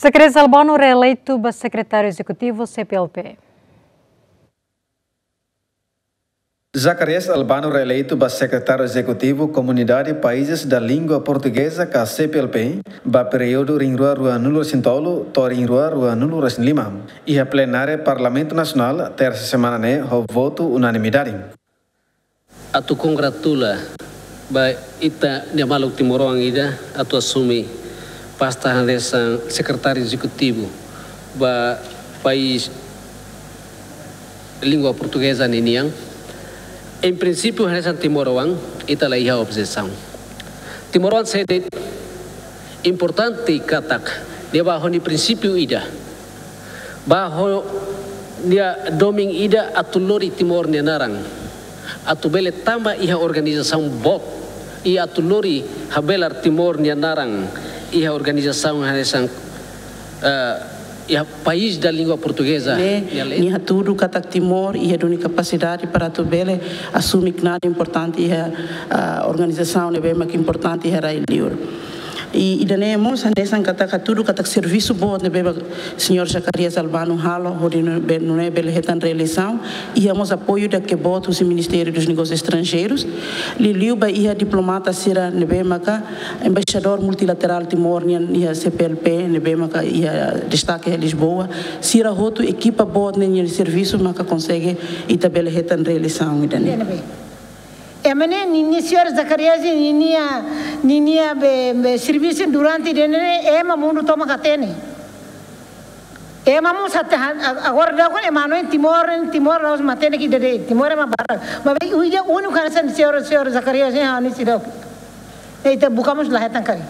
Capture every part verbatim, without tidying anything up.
Zacarias Albano reeleitu ba Sekretáriu Ezekutivu C P L P. Zacarias Albano reeleitu ba Sekretáriu Ezekutivu Komunidade Países da Língua Portuguesa ka C P L P ba períodu rihun rua ruanulu-resin-tolu to'o rihun rua ruanulu-resin-lima. Iha plenária Parlamentu Nasionál, tersa semana ne'e, ho votu unanimidade. Atu kongratula ba ita-nia maluk timoroan ida atu asume pasta hanesan Sekretáriu Ezekutivu ba país língua portugeza ninian. Em princípio, hanesan timoroan, ita la iha objesaun. Timoroan sede importante katak, nia ba ho nia prinsípiu ida, ba ho nia domin ida atu lori Timor nia naran, atu bele tama iha organizasaun boot, i atu lori habelar Timor nia naran iha organizasaun hanesan, eh, iha país da língua portuguesa. Ne'e, nia lei, nia hatudu katak Timor iha duni kapasidade para atu bele asume knaar importante iha, ah, organizasaun ne'ebé mak importante iha rai-liur. I, ida-ne'e mós hanesan katak hatudu katak servisu boot ne'ebé mak señór Zacarias Albano halo, hodi nune'e be-, nune'e bele hetan reeleisaun, iha mós apoiu ida ke boot husi Ministériu dos Negósius Estranjeirus, liuliu ba iha diplomata sira ne'ebé maka embaixadór multilaterál Timor nian iha C P L P, ne'ebé maka iha destake iha Lisboa, sira hotu ekipa boot ne'e nia servisu maka konsege ita bele hetan reeleisaun ida-ne'e. Ema ne'e, ninia señór Zacarias, ninia, ninia be, be servisu durante ida-ne'e, ema mundu tomak hatene. Ema mós hatene, a-, agora daudaun ema hanoin Timor, Timor la'ós matenek ida de'it, Timor ema barak. Maibé, ida úniku hanesan señór, señór Zacarias, eh, hanesan seidauk. Ita buka mós la hetan karik.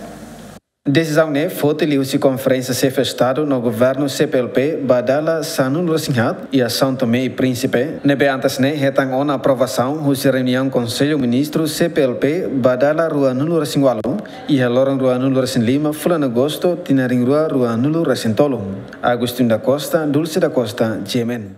Desizaun ne'e foti liuhusi Konferénsia Xefe Estadu no Governu C P L P ba dala sanulu-resin-haat iha São Tomé e Príncipe, ne'ebé antes ne'e hetan ona aprovasaun husi reuniaun Konsellu Ministru C P L P ba dala ruanulu-resin-ualu, iha loron ruanulu-resin-lima fulan Agostu tinan rihun rua ruanulu-resin-tolu. Agostinho da Costa, Dulce da Costa, G M N.